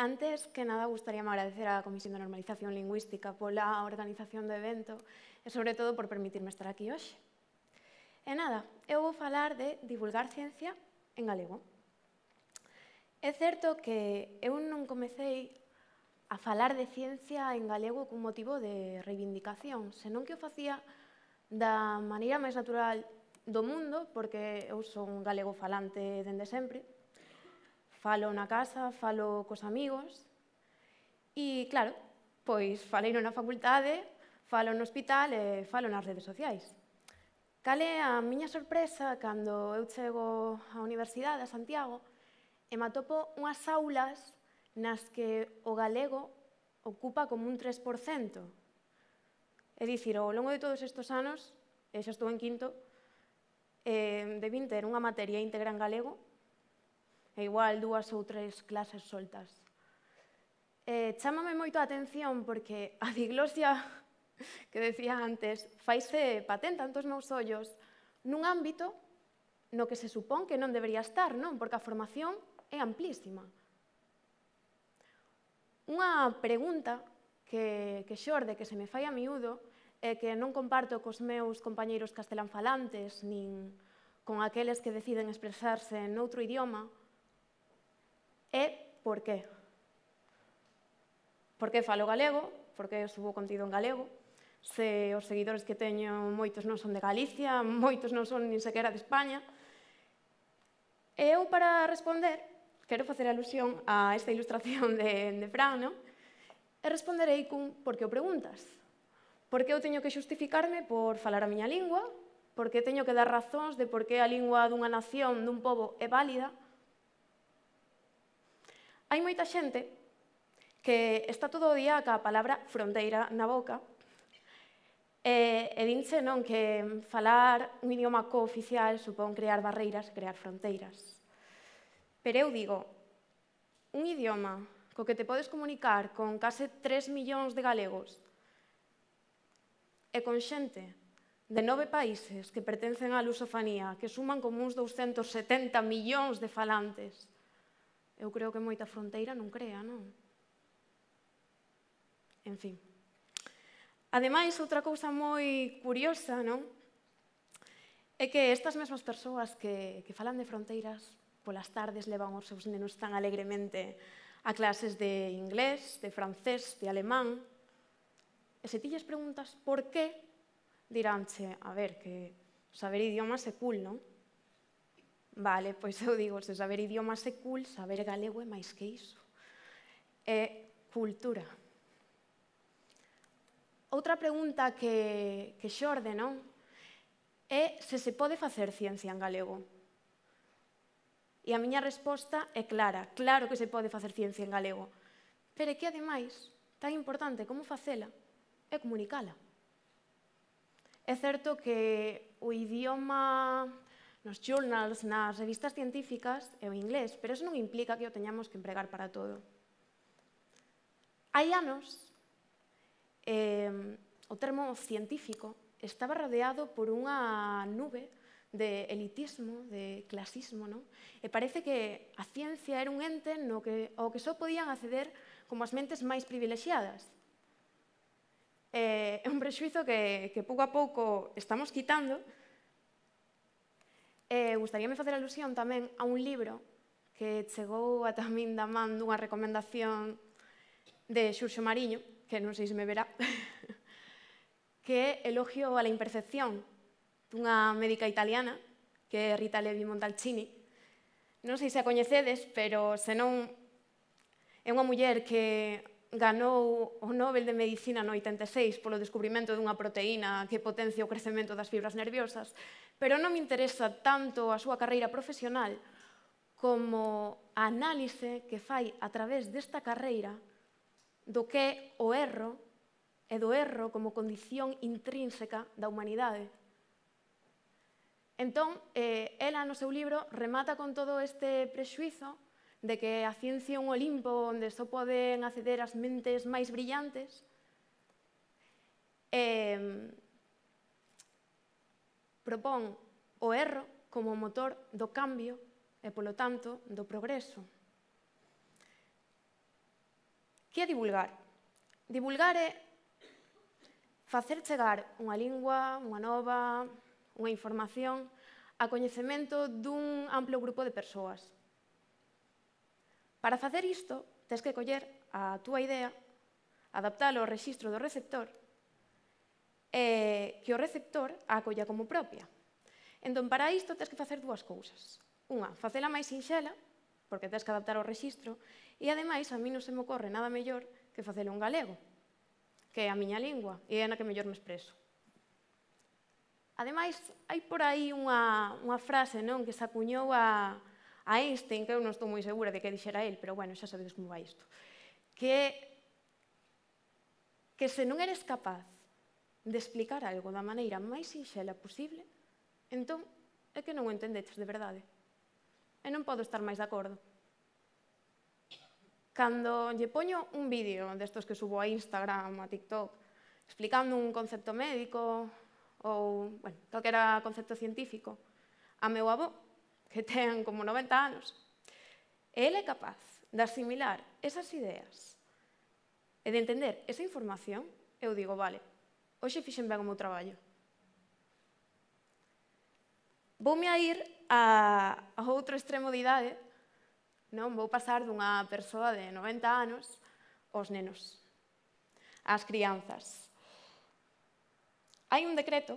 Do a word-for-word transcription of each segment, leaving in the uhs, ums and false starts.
Antes que nada, gustaríame agradecer á Comisión de Normalización Lingüística pola organización do evento e, sobre todo, por permitirme estar aquí hoxe. E nada, eu vou falar de divulgar ciencia en galego. É certo que eu non comecei a falar de ciencia en galego cun motivo de reivindicación, senón que o facía da maneira máis natural do mundo, porque eu son galego falante dende sempre. Falo na casa, falo cos amigos e, claro, pois falei na facultade, falo no hospital e falo nas redes sociais. Cal é a miña sorpresa cando eu chego á Universidade, a Santiago, e me atopo unhas aulas nas que o galego ocupa como un tres por cento. É dicir, ao longo de todos estes anos, e xa estou en quinto, eh, debín ter unha materia íntegra en galego e igual dúas ou tres clases soltas. Eh, chámame moito a atención porque a diglosia que decía antes faise patente ante os meus ollos nun ámbito no que se supón que non debería estar, non? Porque a formación é amplísima. Unha pregunta que, que xorde, que se me fai a miúdo, e que non comparto cos meus compañeiros castelanfalantes nin con aqueles que deciden expresarse noutro idioma, é por qué. Por que falo galego? Por que subo contido en galego? Se os seguidores que teño moitos non son de Galicia, moitos non son nin sequera de España. E eu, para responder, quero facer alusión a esta ilustración de, de Fran, non? E responderei cun por que o preguntas. Por que eu teño que xustificarme por falar a miña lingua? Por que teño que dar razóns de por que a lingua dunha nación, dun pobo, é válida? Hai moita xente que está todo o día ca palabra fronteira na boca e, e dinche non que falar un idioma cooficial supón crear barreiras, crear fronteiras. Pero eu digo, un idioma co que te podes comunicar con case tres millóns de galegos e con xente de nove países que pertencen á lusofanía, que suman como uns douscentos setenta millóns de falantes, eu creo que moita fronteira non crea, non? En fin. Ademais, outra cousa moi curiosa, non? É que estas mesmas persoas que, que falan de fronteiras, polas tardes levan os seus nenos tan alegremente a clases de inglés, de francés, de alemán. E se ti lles preguntas por qué, diránche, a ver, que saber idiomas é cool, non? Vale, pois eu digo, se saber idiomas é cool, saber galego é máis que iso. É cultura. Outra pregunta que, que xorde, non? É se se pode facer ciencia en galego. E a miña resposta é clara, claro que se pode facer ciencia en galego. Pero é que, ademais, tan importante como facela é comunicala. É certo que o idioma nos journals, nas revistas científicas, é o inglés, pero eso non implica que o teñamos que empregar para todo. Hai anos, eh, o termo científico estaba rodeado por unha nube de elitismo, de clasismo, non? E parece que a ciencia era un ente no que, ao que só podían acceder como as mentes máis privilexiadas. É un prexuizo que, que pouco a pouco estamos quitando. E gustaríame facer alusión tamén a un libro que chegou ata min da man dunha recomendación de Xurxo Mariño, que non sei se me verá, que é Elogio a la imperfección, dunha médica italiana, que é Rita Levi Montalcini. Non sei se a coñecedes, pero senón é unha muller que ganou o Nobel de Medicina no oitenta e seis polo descubrimento dunha proteína que potencia o crecemento das fibras nerviosas, pero non me interesa tanto a súa carreira profesional como a análise que fai a través desta carreira do que é o erro e do erro como condición intrínseca da humanidade. Entón, eh, ela no seu libro remata con todo este prexuizo de que a ciencia é un Olimpo onde só poden acceder as mentes máis brillantes, e propón o erro como motor do cambio e, polo tanto, do progreso. Que é divulgar? Divulgar é facer chegar unha lingua, unha nova, unha información a coñecemento dun amplo grupo de persoas. Para facer isto, tens que coller a túa idea, adaptalo ao rexistro do receptor e que o receptor a acolla como propia. Entón, para isto, tens que facer dúas cousas. Unha, facela máis sinxela, porque tens que adaptar ao rexistro, e, ademais, a mí non se me ocorre nada mellor que facelo en galego, que é a miña lingua, e é na que mellor me expreso. Ademais, hai por aí unha, unha frase non, que se acuñou a, a Einstein, que eu non estou moi segura de que dixera el, pero, bueno, xa sabedes como vai isto, que é que se non eres capaz de explicar algo da maneira máis sinxela posible, entón é que non o entendeches de verdade. E non podo estar máis de acordo. Cando lle poño un vídeo destos que subo a Instagram, a TikTok, explicando un concepto médico ou, bueno, calquera concepto científico, a meu avó, que ten como noventa anos, e ele é capaz de asimilar esas ideas e de entender esa información, eu digo, vale, hoxe fixen ben o meu traballo. Voume a ir a, a outro extremo de idade, non? Vou pasar dunha persoa de noventa anos aos nenos, ás crianzas. Hai un decreto,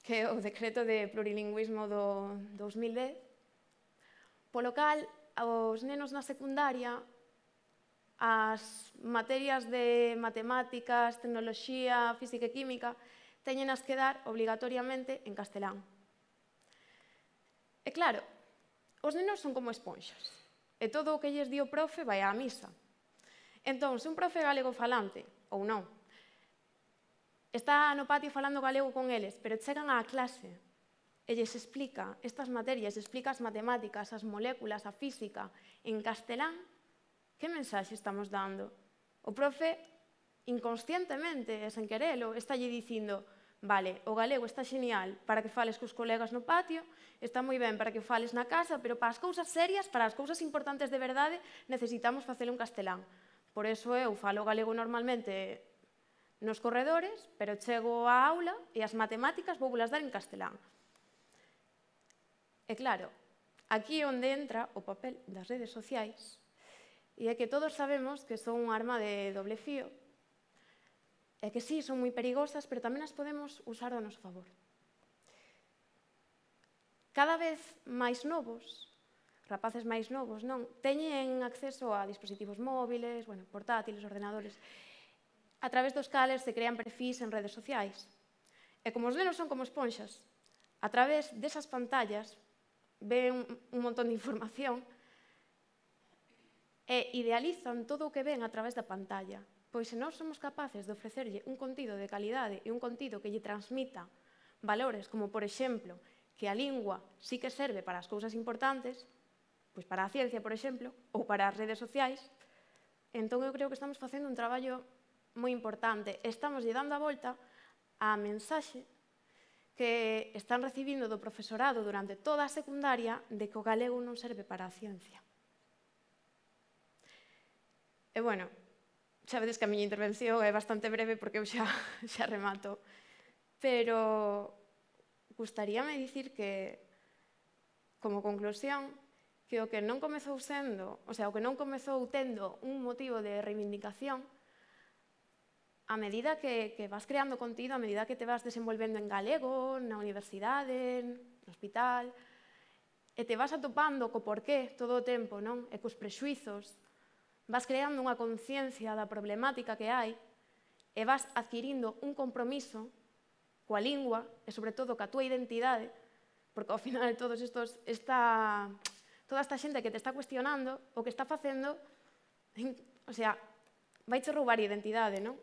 que é o decreto de plurilingüismo do dos mil dez, polo cal aos nenos na secundaria as materias de matemáticas, tecnoloxía, física e química teñenas que dar obrigatoriamente en castelán. E claro, os nenos son como esponxas, e todo o que lles di o profe vai á misa. Entón, se un profe galego falante, ou non, está no patio falando galego con eles, pero chegan á clase e lles explica estas materias, explica as matemáticas, as moléculas, a física, en castelán, que mensaxe estamos dando? O profe, inconscientemente e sen querelo, está lle dicindo, vale, o galego está xenial para que fales cos colegas no patio, está moi ben para que fales na casa, pero para as cousas serias, para as cousas importantes de verdade, necesitamos facelo en castelán. Por eso eu falo galego normalmente nos corredores, pero chego á aula e as matemáticas vou las dar en castelán. E claro, aquí é onde entra o papel das redes sociais, e é que todos sabemos que son un arma de doble fío, e que sí, son moi perigosas, pero tamén as podemos usar ao noso favor. Cada vez máis novos, rapaces máis novos, non, teñen acceso a dispositivos móviles, bueno, portátiles, ordenadores, a través dos cales se crean perfís en redes sociais. E como os nenos son como esponxas, a través desas pantallas ven un montón de información e idealizan todo o que ven a través da pantalla. Pois se nós somos capaces de ofrecerlle un contido de calidade e un contido que lle transmita valores, como, por exemplo, que a lingua sí que serve para as cousas importantes, pois para a ciencia, por exemplo, ou para as redes sociais, entón eu creo que estamos facendo un traballo moi importante. Estamos lle dando a volta á mensaxe que están recibindo do profesorado durante toda a secundaria de que o galego non serve para a ciencia. E, bueno, xa vedes que a miña intervención é bastante breve porque eu xa, xa remato, pero gustaríame dicir que, como conclusión, que o que non comezou sendo, o sea, o que non comezou tendo un motivo de reivindicación, a medida que, que vas creando contido, a medida que te vas desenvolvendo en galego, na universidade, no hospital, e te vas atopando co porqué todo o tempo, non? E cos prexuizos, vas creando unha conciencia da problemática que hai e vas adquirindo un compromiso coa lingua e, sobre todo, coa túa identidade, porque, ao final, todos estos, esta, toda esta xente que te está cuestionando, o que está facendo, o sea, vaiche roubar identidade, non?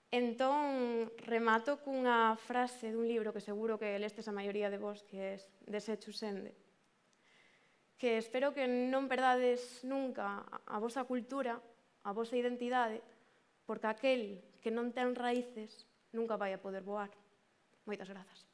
Entón, remato cunha frase dun libro que seguro que lestes a maioría de vos, que é Desechus Ende, que espero que non perdades nunca a vosa cultura, a vosa identidade, porque aquel que non ten raíces nunca vai a poder voar. Moitas grazas.